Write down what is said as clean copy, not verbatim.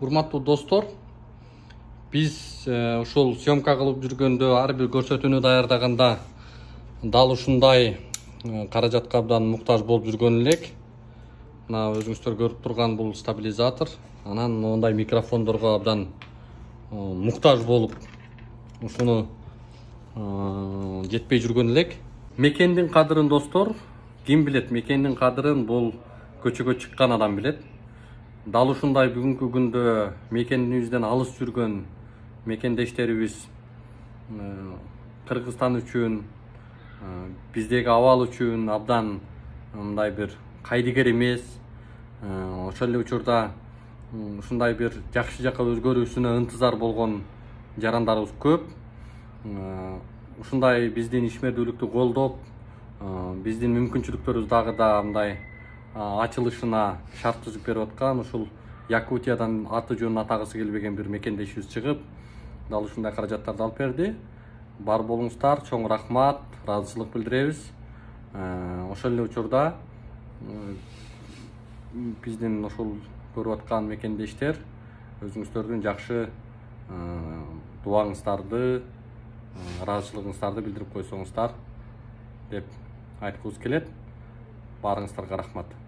Урматтуу достор, биз ушул съемка кылып жүргөндө, ар бир көрсөтүүнү даярдаганда дал ушундай каражатка абдан муктаж болуп жүргөн элек. Мына өзүңүздөр көрүп турган бул стабилизатор, анан мондай микрофондорго абдан муктаж болуп ушуну жетпей жүргөн элек. Мекендин кадырын достор, ким билет? Мекендин кадырын бул көчөгө чыккан адам билет. Дал ушундай бүгүнкү күндө мекенибизден алыс жүргөн мекендештерибиз Кыргызстан үчүн, биздеги абал үчүн абдан мындай бир кайдыгер эмес. Ошол эле учурда ушундай бир жакшы жакка өзгөрүүсүнө ынтызар болгон жарандарыбыз көп. Ушундай биздин ишмердүүлүктү колдоп, биздин мүмкүнчүлүктөрүбүз дагы да мындай ачылышына шарт түзүп берип аткан ушул Якутиядан аты жөнүн атагысы келбеген бир мекендешибиз чыгып, дал ушундай каражаттарды алып берди. Бар болуңуздар, чоң рахмат, ыраазычылык билдиребиз. Ошол эле учурда биздин ушул көрүп аткан мекендештер өзүңүздөрдүн жакшы дубаңыздарды, ыраазычылыгыңыздарды билдирип койсоңуздар деп айткыбыз келет. Баарыңыздарга рахмат.